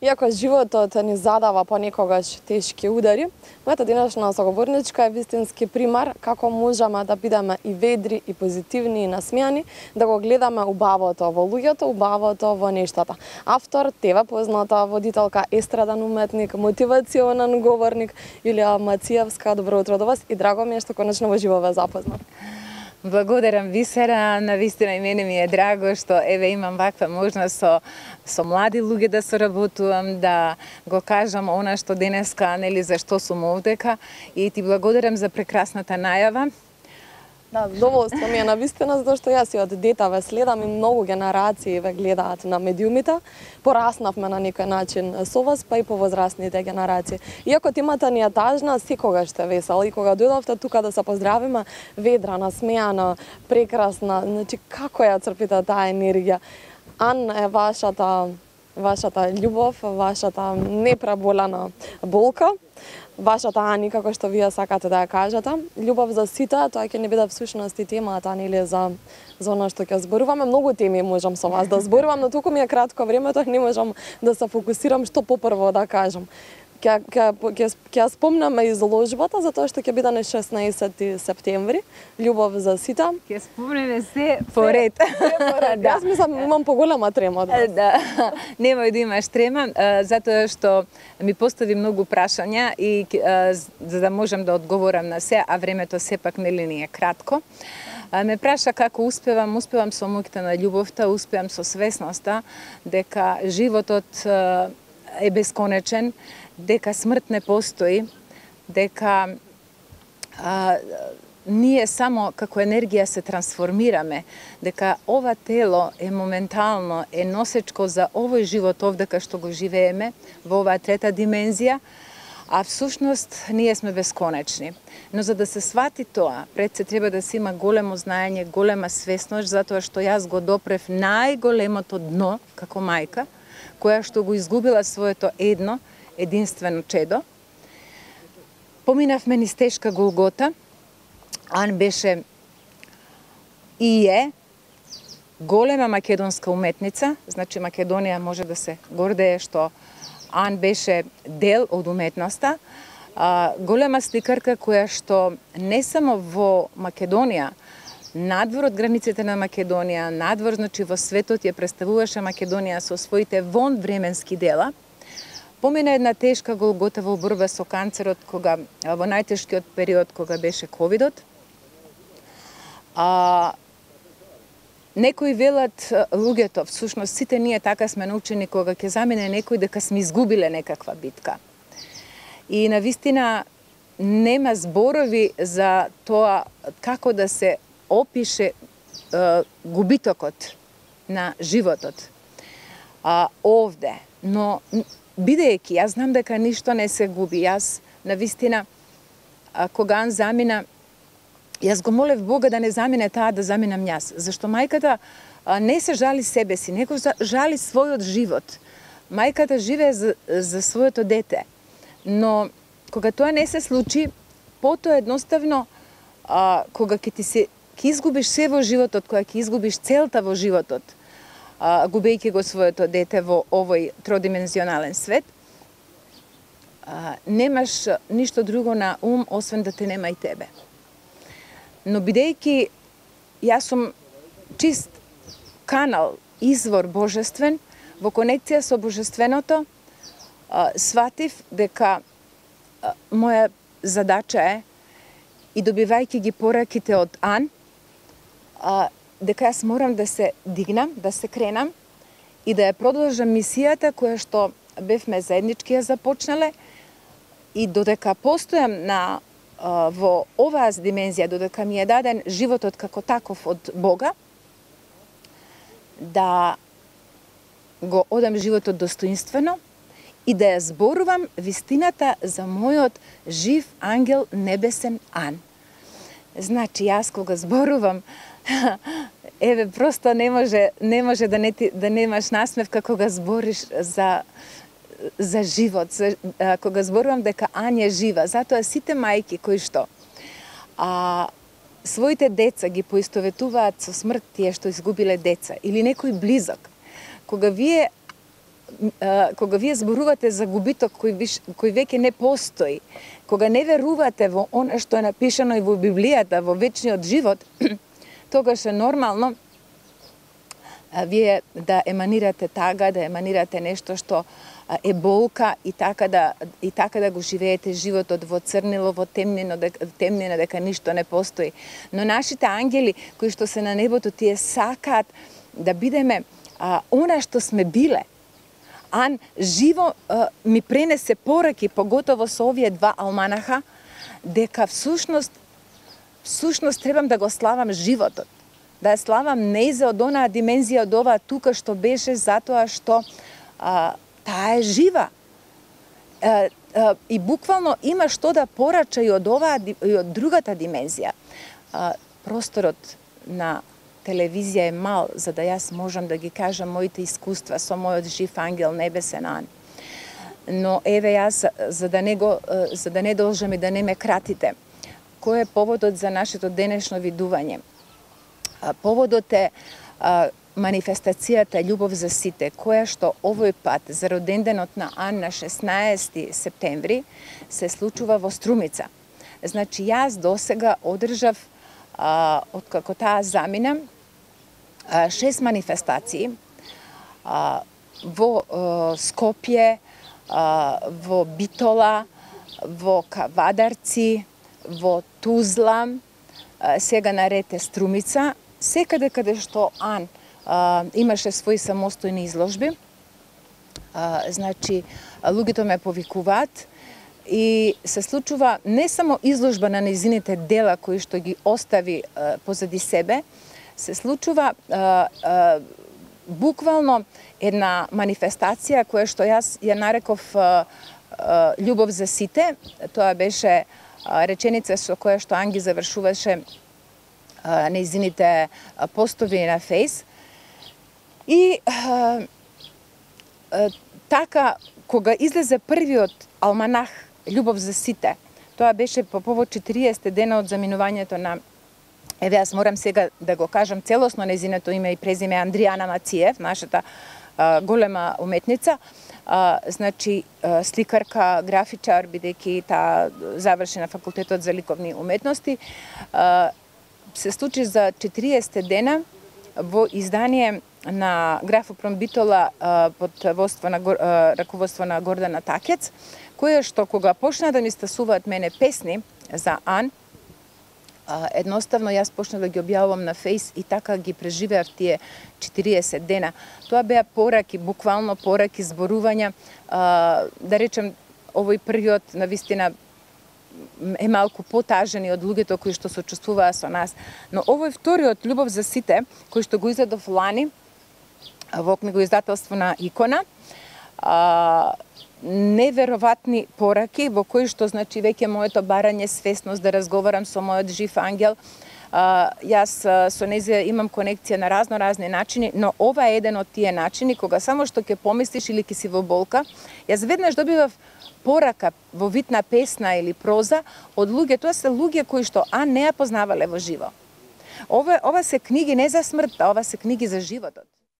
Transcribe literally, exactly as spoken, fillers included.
Иако животот ни задава понекогаш тешки удари, мојата денешна соговорничка е вистински пример како можеме да бидеме и ведри, и позитивни, и насмејани, да го гледаме убавото во луѓето, убавото во нештата. Автор, тебе позната водителка, естраден уметник, мотивационен говорник Јулија Мациевска. Добро утро до вас и драго ми е што конечно во живо ве запознав. Благодарам Висера, навистина и мене ми е драго што еве имам ваква можност со со млади луѓе да соработувам, да го кажам она што денеска, нели, зашто сум овдека, и ти благодарам за прекрасната најава. Да, задоволство ми е навистина, затоа што јас и од дете ве следам и многу генерации ве гледаат на медиумите. Пораснавме на некој начин со вас, па и по возрастните генерации. Иако темата ни е тажна, секогаш сте весела и кога дојдовте тука да се поздравиме, ведра, насмејана, прекрасна, значи како ја црпите таа енергија? Ан е вашата вашата љубов, вашата непреболена болка. Вашата Ани, како што вие сакате да ја кажете, љубов за сите, тоа ќе не биде всушност и темата, нели, за за она што ќе зборуваме. Многу теми можам со вас да зборувам, но туку ми е кратко времето, не можам да се фокусирам што попрво да кажам. Ќе ќе ќе ќе спомнаме изложбата затоа што ќе биде на шеснаесети септември, љубов за сите. Ќе спомнеме се поред. Да. Јас мислам имам поголема трема од вас. Да. Немој да имаш трема, затоа што ми постави многу прашања и за да можам да одговорам на се, а времето сепак нели ни е кратко. Ме праша како успевам, успевам со моќта на љубовта, успевам со свесноста дека животот е бесконечен, дека смрт не постои, дека а, ние само како енергија се трансформираме, дека ова тело е моментално, е носечко за овој живот овдека што го живееме, во оваа трета димензија, а всушност ние сме бесконечни. Но за да се свати тоа, пред се треба да се има големо знаење, голема свесност, затоа што јас го допрев најголемото дно како мајка, која што го изгубила своето едно, единствено чедо. Поминавме низ тешка голгота. Ан беше и е голема македонска уметница, значи Македонија може да се гордее што Ан беше дел од уметноста, а, голема сликарка која што не само во Македонија, надвор од границите на Македонија, надвор, значи во светот ја представуваше Македонија со своите вонвременски дела. Помина една тешка голгота во борба со канцерот, кога во најтешкиот период кога беше ковидот. А, некои велат луѓето, всушност сите ние така сме научени кога ќе замине некој дека сме изгубиле некаква битка. И навистина нема зборови за тоа како да се опише е, губитокот на животот а, овде. Но бидејќи јас знам дека ништо не се губи, јас навистина а, кога Ан замина, јас го молев Бога да не замине таа, да заминам јас, зашто мајката а, не се жали себе си, него жали својот живот. Мајката живее за, за своето дете, но кога тоа не се случи, потоа едноставно а, кога ќе ти се ќе изгубиш се во животот, кога ќе изгубиш целта во животот, а, губејќи го своето дете во овој тродимензионален свет, а, немаш ништо друго на ум, освен да те нема и тебе. Но бидејќи јас сум чист канал, извор божествен, во конекција со божественото, а, сватив дека а, моја задача е, и добивајќи ги пораките од Ан, а, дека јас морам да се дигнам, да се кренам и да ја продолжам мисијата која што бевме заеднички ја започнале, и додека постојам на а, во оваа димензија, додека ми е даден животот како таков од Бога, да го одам животот достоинствено и да ја зборувам вистината за мојот жив ангел небесен Ан. Значи, јас кога зборувам, еве, просто не може, не може да, не ти, да немаш насмевка кога збориш за, за живот, за, а, кога зборувам дека Ан е жива. Затоа сите мајки кои што а, своите деца ги поистоветуваат со смрт, тие што изгубиле деца, или некој близок, кога вие кога вие зборувате за губиток кој, виш, кој веќе не постои, кога не верувате во она што е напишано и во Библијата, во вечниот живот, тогаш е нормално а, вие да еманирате тага, да еманирате нешто што а, е болка и така да и така да го живеете животот во црнило, во темнина, дека, темнина дека ништо не постои. Но нашите ангели кои што се на небото, тие сакаат да бидеме а, она што сме биле. Ан живо а, ми пренесе пораки, поготово со овие два алманаха, дека всушност всушност требам да го славам животот. Да ја славам нејзе од онаа димензија, од оваа тука што беше, затоа што а, таа е жива. А, а, и буквално има што да порача и од оваа и од другата димензија. А, просторот на телевизија е мал, за да јас можам да ги кажам моите искуства со мојот жив ангел небесен Ан. Но еве јас, за да не го за да не должам и да не ме кратите, кој е поводот за нашето денешно видување? Поводот е а, манифестацијата Љубов за сите, која што овој пат за роденденот на Ан на шеснаесети септември се случува во Струмица. Значи јас досега одржав а, откако таа замина а, шест манифестации а, во а, Скопје, а, во Битола, во Кавадарци, во Тузла, а, сега наред е Струмица. Секаде каде што Ан а, имаше своји самостојни изложби, а, значи луѓето ме повикуваат и се случува не само изложба на нејзините дела кои што ги остави а, позади себе, се случува а, а, буквално една манифестација која што јас ја нареков а, а, Љубов за сите. Тоа беше а, реченица со која што Ан ги завршуваше нејзините постови на Фейс. И а, а, така, кога излезе првиот алманах Љубов за сите, тоа беше по повод четириесет дена од заминувањето на, еве јас морам сега да го кажам целосно нејзиното име и презиме, Андријана Мациев, нашата а, голема уметница, а, значи а, сликарка, графичар, бидејќи таа заврши на факултетот за ликовни уметности. а, се случи за четириесет дена во издание на Графопром Битола под водство на, раководство на Гордана Такец, која што кога почна да ми стасуваат мене песни за Ан, едноставно јас почнав да ги објавувам на Фейс и така ги преживеав тие четириесет дена. Тоа беа пораки, буквално пораки, зборувања, да речем, овој период навистина е малку потажен и од луѓето кои што сочувствуваа со нас. Но овој вториот Љубов за сите, кој што го изедов лани во книгоиздателство на Икона, а, невероватни пораки во кои што значи веќе моето барање свесност да разговарам со мојот жив ангел. А, јас со нејзе имам конекција на разно разни начини, но ова е еден од тие начини кога само што ќе помислиш или ќе си во болка, јас веднаш добивав порака во вид на песна или проза од луѓе. Тоа се луѓе кои што Ан не ја познавале во живо. Ова, ова се книги не за смртта, ова се книги за животот.